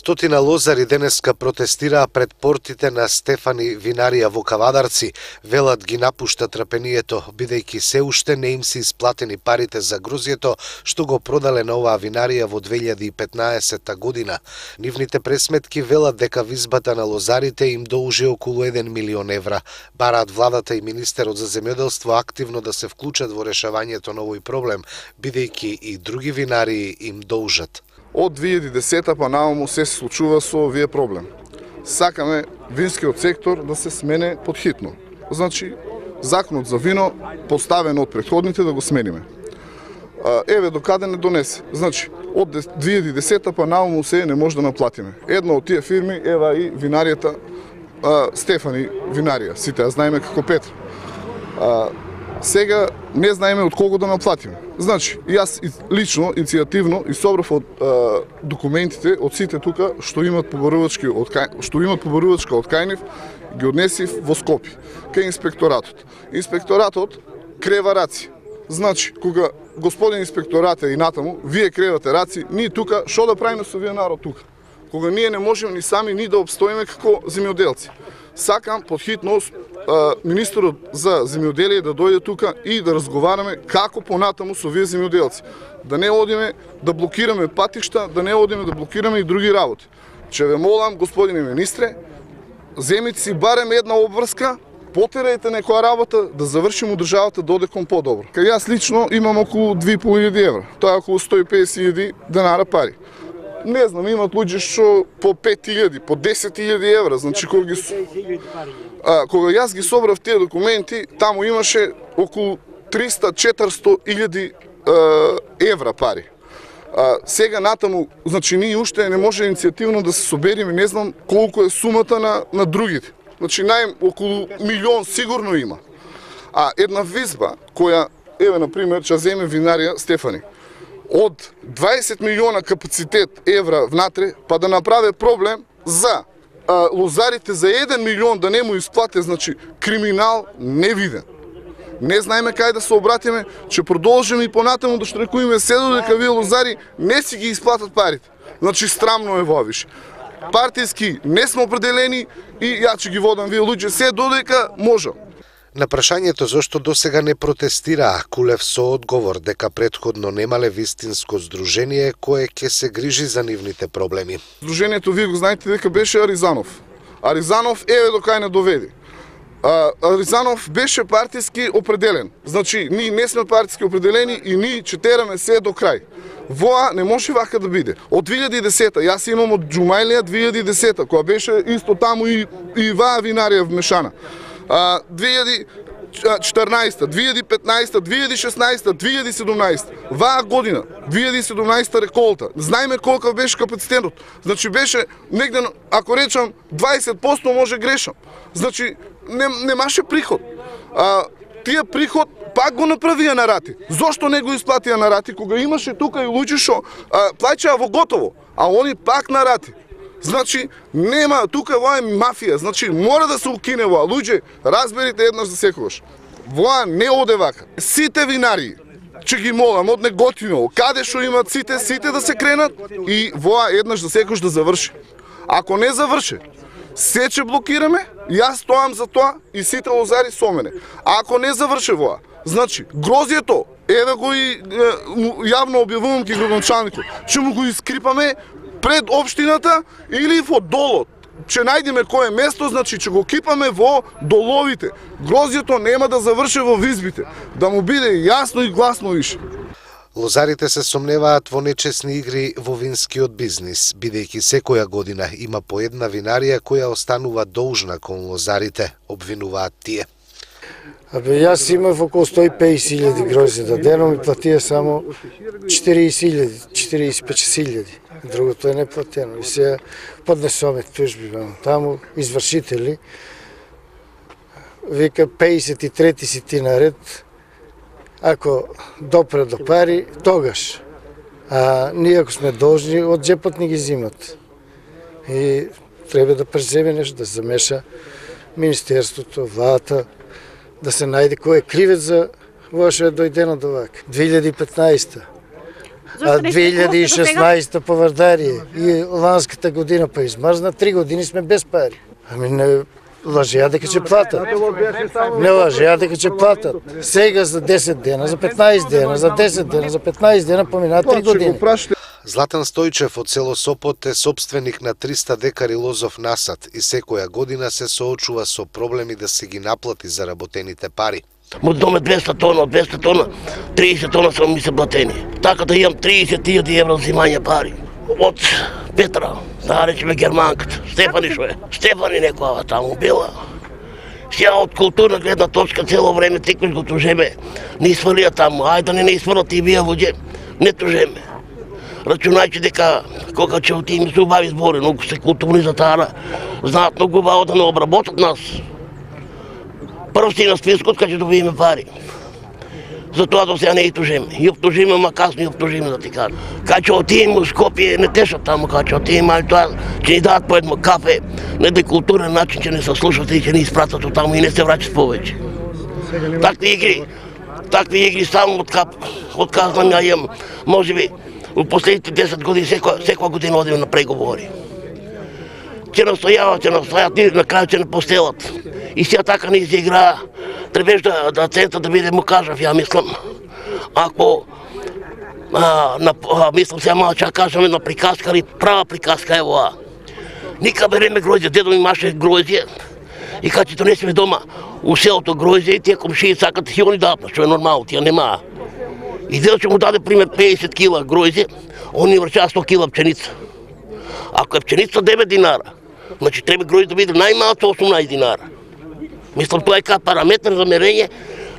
Стотина лозари денеска протестираа пред портите на Стефани винарија во Кавадарци. Велат ги напушта трпението, бидејќи се уште не им се исплатени парите за грозјето што го продале на оваа винарија во 2015 година. Нивните пресметки велат дека визбата на лозарите им должи околу 1 милион евра. Бараат владата и министерот за земјоделство активно да се вклучат во решавањето на овој проблем, бидејќи и други винарии им должат. Од 2010 па нааму се случува со овие проблем. Сакаме винскиот сектор да се смене подхитно. Значи, законот за вино, поставен од претходните, да го смениме. Еве докаде не донесе. Значи, од 2010 па нааму се не може да наплатиме. Една од тие фирми, ева и винаријата Стефани винарија. Сите ја знаеме како Петра. Сега не знаеме од кого да наплатиме. Значи, јас лично, иницијативно, и собрав од документите од сите тука што имат побарувачка од кај нив, ги однесив во Скопје, кај инспекторатот. Инспекторатот крева раци. Значи, кога господин инспекторат и натаму, вие кревате раци, ние тука, што да правиме со вие народ тука? Кога ние не можеме ни сами ни да обстоиме како земјоделци. Сакам подхитно министерот за земјоделие да дојде тука и да разговараме како понатаму со вие земјоделци. Да не одиме да блокираме патишта, да не одиме да блокираме и други работи. Че ве молам, господине министре, земите си барем една обврска, потерајте некоја работа да завршиме државата да оде кон подобро. Кај јас лично имам околу 2.500 евра, тоа е околу 150.000 денари пари. Не знам, имат луѓе што по 5.000, по 10.000 евра, значи кога јас ги собрав тие документи, таму имаше околу 300-400.000 евра пари. Сега натаму, значи ние уште не може иницијативно да се собериме, не знам колку е сумата на другите. Значи околу милион сигурно има. А една визба која, еве например, ќе земе винарија Стефани, од 20 милиона капацитет евра внатре, па да направи проблем за лозарите за 1 милион да не му исплате, значи криминал невиден. Не знаеме кај да се обратиме, че продолжиме и понатаму да штрекуваме се додека вие лозари не си ги исплатат парите. Значи срамно е во више. Партиски не сме определени и ја ќе ги водам вие луѓе се додека можам. На прашањето зошто досега не протестираа, Кулев со одговор дека претходно немале вистинско здружение кое ќе се грижи за нивните проблеми. Здружението, вие го знаете дека беше Аризанов. Аризанов еве до кај не доведе. Аризанов беше партиски определен. Значи, ние не сме партиски определени и ние ќе тераме се до крај. Воа не може вака да биде. Од 2010, јас имам од Джумајлија 2010, која беше исто таму и ваа винарија вмешана. 2014, 2015, 2016, 2017, ваа година, 2017 реколта. Знаеме колку беше капацитетот. Значи беше негде, ако речам 20% може грешам. Значи немаше приход. Тие приход пак го направија на рати. Зошто не го исплатија на рати кога имаше тука и луѓе што плаќаа во готово, а они пак на рати? Значи, нема, тука воа е мафија, значи мора да се укине воа. Луѓе, разберите еднаш за секогаш. Воа не оде вака. Сите винарии, че ги молам, од Неготиново, каде што имат сите да се кренат и воа еднаш за секогаш да заврши. Ако не заврши, се ќе блокираме, јас стоам за тоа и сите лозари со мене. А ако не заврши воа, значи, грозјето, еве го и јавно објавувам ки градоначалникот, ќе му го искрипаме пред општината или во долот. Че најдеме кое место, значи че го кипаме во доловите. Грозјето нема да заврши во визбите. Да му биде јасно и гласно више. Лозарите се сомневаат во нечесни игри во винскиот бизнис, бидејќи секоја година има по една винарија која останува должна кон лозарите, обвинуваат тие. Јас имав околу 150.000 грозје деном и платија само 40.000, другото е неплатено. И се поднесоме тужби таму, извршители. Вика 53-ти си ти наред, ако допре до пари, тогаш. А ние ако сме должни, од джепот ни ги зимат. И треба да преземе нешто, да замеша Министерството, владата, да се најде кој е кривец за во што е дојдено до вака. 2015 2016 по Вардарие и ланската година па измрзна, 3 години сме без пари. Ами не лажеа дека ќе платат. Не лажеа дека ќе платат. Сега за 10 дена, за 15 дена, за 10 дена, за 15 дена поминаа 3 години. Златан Стојчев од село Сопот е собственик на 300 декари лозов насад и секоја година се соочува со проблеми да се ги наплати заработените пари. Мојот дом е 200 тона, од 200 тона, 30 тона само ми се платени. Така да имам 30.000 евро взимање пари. Од Петра, да речеме германката, Стефани шо е. Стефани некоја таму била. Сега од културна гледна точка цело време текмеш го тужеме. Не изфалија таму, ајде да не изфалат и вие луѓе, не тужеме. Рачунајќи дека кога ќе отидеме се убави збори, многу се културни за таа, знаат многу убаво да не обработат нас. Прв си на спискот кога ќе добиеме пари. Затоа до сега не и тужиме. И обтужиме, ма касно и обтужиме да ти кажам. Кога ќе отидеме у Скопје, не тешат таму, кога ќе отидеме, али тоа ќе ни дадат по едно кафе, на еден културен начин ќе не се слушат и ќе ни испратат од таму и не се враќат повеќе. Такви игри само отказвам ја имам, можеби, у последните 10 години секоја година одиме на преговори. Ќе настојават, на крај ќе не постелат. И сега така не изиграа. Требеш да центар да биде, му кажав, ја мислам. Ако, мислам сега мало ќе кажаме на приказка, али права приказка е ова. Ника береме гроздје, дедо ми имаше гроздје. И кога ќе донесеме дома у селото гроздје, и тие комшии сакат и они дадат, што е нормално, тие немаа. И дедо ќе му даде пример 50 кила гроздје, он ни врчава 100 кила пченица. Ако е пченица 9 динара, значи треба гроздје да биде најмалку 18 динара. Мислам, тоа е како параметар за мерење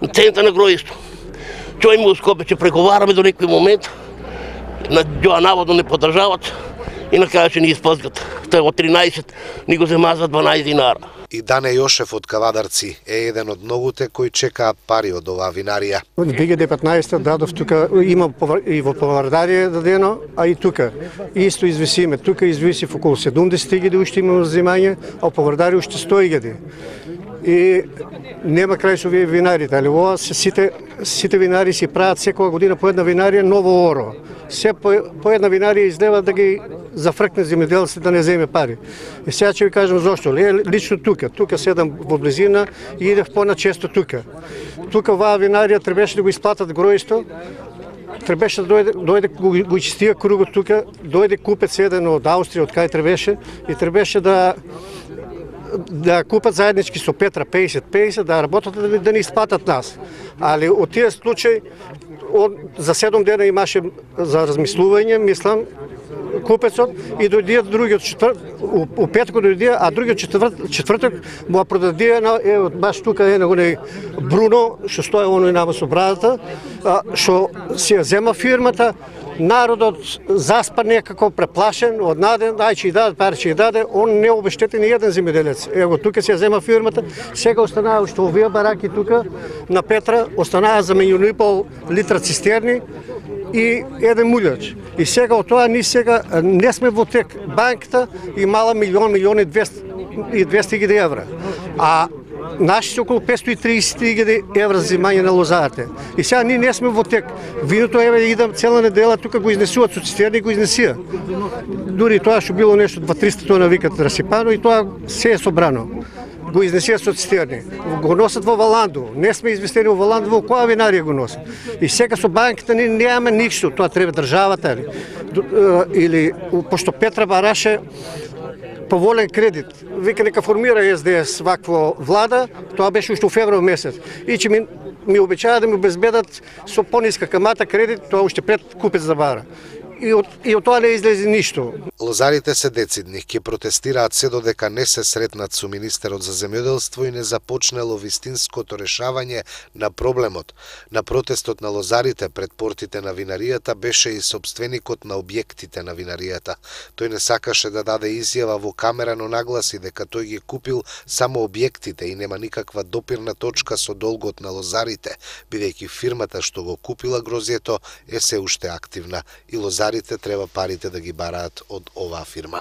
на цената на гроздјето. Човек му Скопје ќе преговараме до некој момент, на Ѓоа наводно не подржават и на крај ќе ни исплзгат. Тоа од 13 ни го зема за 12 динара. И Дане Јошев од Кавадарци е еден од многуте кои чекаат пари од оваа винарија. Од 2015 дадов тука, има и во Вардарие дадено, а и тука. Исто извисиме. Тука извисив околу 70.000 уште имаме взимање, а по Вардарие уште 100.000. И нема крај со овие винарите, али ова сите винари си прават секоја година по една винарија ново оро. Се по една винарија излева да ги зафркне земјоделците да не земе пари. И сега ќе ви кажам зошто. Лично тука седам во близина и идев поначесто тука. Тука оваа винарија требеше да го исплатат гројсто, требеше да дојде го чистија кругот тука, дојде купец еден од Австрија, од кај требеше, и требеше да купат заеднички со Петра 50-50, да работат да не исплатат нас. Али од тие случаи за 7 дена имаше за размислување, мислам, купецот, и дојдиат другиот у петок дојдија, а другиот четврток му продадија баш тука е оној Бруно, што стои оној намо со брадата, што си ја зема фирмата. Народот заспа некако преплашен, однаден, ај ќе дадат пари, ќе даде, он не обештети ни еден земјоделец. Ево тука се зема фирмата, сега останаа што овие бараки тука на Петра останаа за 1,5 литра цистерни и еден мулјач. И сега од тоа ни сега не сме во тек. Банката имала 1,200,000 евра. А наши се околу 530.000 евра за взимање на лозарите. И сега ние не сме во тек. Виното идам цела недела тука го изнесуват со цистерни и го изнесија. Дури тоа што било нешто 200-300 тона викат расипано и тоа се е собрано. Го изнесија со цистерни. Го носат во Валанду. Не сме известени во Валанду, во која винарија го носат. И сега со банката ние немаме ништо. Тоа треба државата или пошто Петра бараше поволен кредит. Вика нека формира СДС вакво влада, тоа беше уште во февруар месец. И че ми обечаа да ми обезбедат со пониска камата кредит, тоа уште пред купец да бара. И од тоа не излезе ништо. Лозарите се децидни, ќе протестираат се додека не се сретнат со министерот за земјоделство и не започнело вистинското решавање на проблемот. На протестот на лозарите пред портите на винаријата беше и собственикот на објектите на винаријата. Тој не сакаше да даде изјава во камера, но нагласи дека тој ги купил само објектите и нема никаква допирна точка со долгот на лозарите, бидејќи фирмата што го купила гроздјето е се уште активна и лозарите треба парите да ги бараат од оваа фирма.